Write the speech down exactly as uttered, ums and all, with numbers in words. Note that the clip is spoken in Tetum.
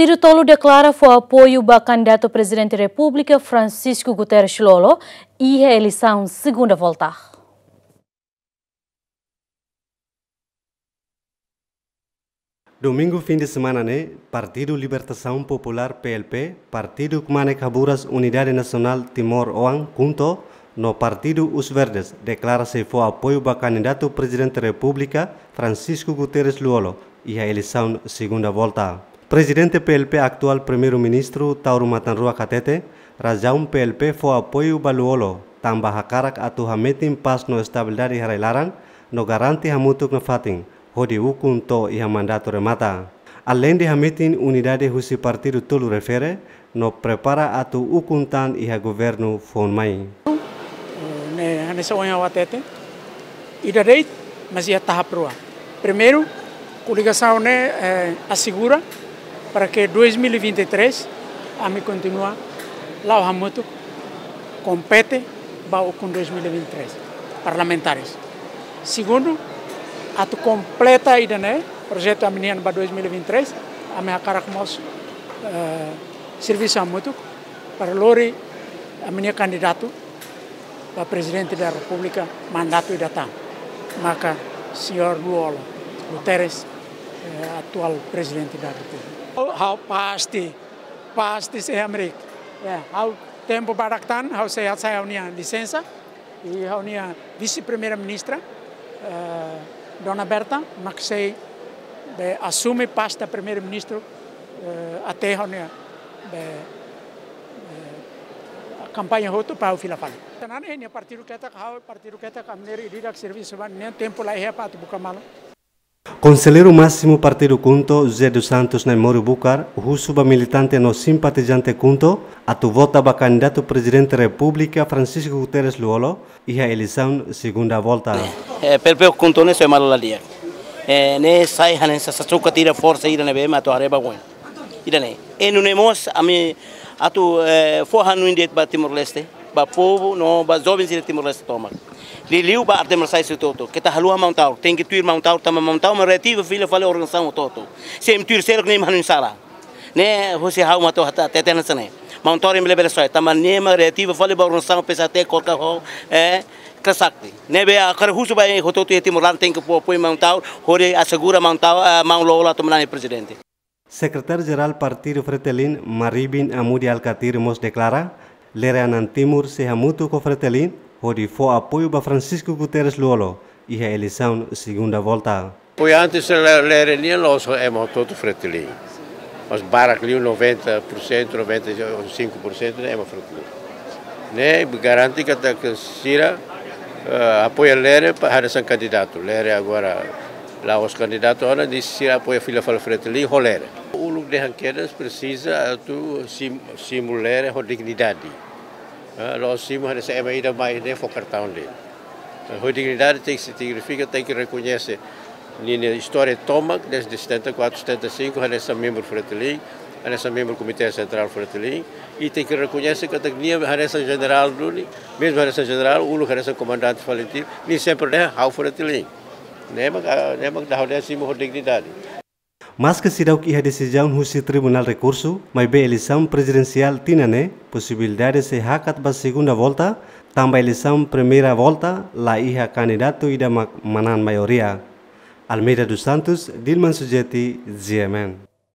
Partidu tolu deklara fó apoiu ba kandidatu Prezidente Repúblika Francisco Guterres Lú-Olo iha eleisaun segunda volta. Domingu fim de semana ne'e, Partidu Libertasaun Populár, P L P, Partidu Kmanek Haburas Unidade Nasionál Timor Oan, KHUNTO, no Partidu Os Verdes deklara sei fó apoiu ba kandidatu Prezidente Repúblika Francisco Guterres Lú-Olo iha eleisaun segunda volta. Prezidente P L P, atuál Primeiru-Ministru Taur Matan Ruak hatete, razaun P L P fó apoiu ba Lú-Olo tanba hakarak atu hametin pás no estabilidade iha rai-laran no garante hamutuk nafatin hodi ukun to'o iha mandatu remata. Aleinde hametin unidade husi partidu tolu refere no prepara atu ukun tan iha governu foun mai. Ne'e, hanesan ohin ha'u hatete, ida de'it, mas iha tahap rua. Primeiru, koligasaun ne'e, eh, asegura para ke dois mil e vinte e três ami kontinua la'o hamutuk kompete ba ukun dois mil e vinte e três parlamentares. Segundu, atu kompleta ida-ne'e, projetu ami-nian ba dois mil e vinte e três, ami hakarak mós, eh, servisu hamutuk para lori ami-nia kandidatu ba Prezidente da Repúblika mandatu ida tan, maka señór Lú-Olo, Guterres, eh, atuál Prezidente da Repúblika. Ha'u pasti, pasti sei hamriik. Ya, ha'u tempu badak tan, ha'u sei hasai ha'u-nia lisensa, i ha'u-nia Vise-Primeira-Ministra, eh, Dona Berta, mak sei be asume pasta Primeiru-Ministru, eh, até ha'u-nia be, eh, kampaña hotu para ha'u fila fali. Tan ne'e, nia partidu ketak, ha'u partidu ketak, ami-nia ida-idak servisu ba, ne'e tempu la iha para atu buka malu. Konselleiru Másimu Partidu KHUNTO, José dos Santos Naimori Bucar, husu ba militante no simpatizante KHUNTO atu vota ba kandidatu Prezidente Repúblika Francisco Guterres Lú-Olo iha eleisaun segunda volta. Eh, P L P ho KHUNTO ne'e sai malu la di'ak. Eh, ne'e sai hanesan sasuka tira forsa ida ne'ebé mak atu haree ba oin. Ida-ne'e. I nune'e mós ami atu, eh, fó hanoin de'it ba Timor-Leste, ba povu no ba joven sira Timor-Leste tomak. Liuliu ba arte marsiais hotu-hotu. Keta haluha Maun Taur, tenke tuir Maun Taur, tanba Maun Taur mak reativa fila fali organizasaun hotu-hotu. Se imi tuir seluk ne'e imi hanoin sala. Ne'e husi ha'u mak atu hatete hanesan ne'e. Maun Taur imi labele soe, tanba nia mak reativa fali ba organizasaun P S H T, KORKA ho, eh, Kresakti. Ne'ebé hakarak husu ba hotu-hotu iha Timor laran tenke fó apoiu Maun Taur, hodi asegura Maun Taur, eh, Maun Lú-Olo atu manán prezidente. Sekretáriu-Jerál Partidu Fretilin, Maribin Amudi Alkatiri mós deklara, Lere Anan Timur sei hamutuk ho Fretilin, hodi fó apoiu ba Francisco Guterres Lú-Olo iha eleisaun segunda volta. Apoiante sira Lere nian la'ós ema hotu-hotu Fretilin. Mas barak liu noventa por cento, noventa e cinco por cento ne'e ema Fretilin. Ne'e garante katak sira, eh, apoia Lere para hanesan kandidatu. Lere agora la'ós kandidatu ona, ne'e sira apoia fila fali Fretilin ho Lere. Uluk dehan kedas presiza atu sim-, simu Lere ho dignidade. Ah, la'ós simu hanesan ema ida mai ne'e fó kartaun de'it. Ah, ho dignidade tenke signifika, tenke rekoñese ninia istória tomak, dezde setenta e quatro, setenta e cinco, hanesan membru Fretilin, hanesan membru Komité Sentrál Fretilin, i tenke rekoñese katak nia hanesan jenerál duni, mezmu hanesan jenerál, uluk hanesan komandante Falintil, nia sempre dehan ha'u Fretilin. Ne'e mak, ah, ne'e mak dahulea simu ho dignidade. Maske seidauk iha desizaun husi Tribunál Rekursu, maibé eleisaun prezidensiál tinan ne'e, posibilidade sei hakat ba segunda volta, tanba eleisaun primeira volta, la iha kandidatu ida mak manán maioria. Almeida dos Santos, Dilman Sujeti, G M N.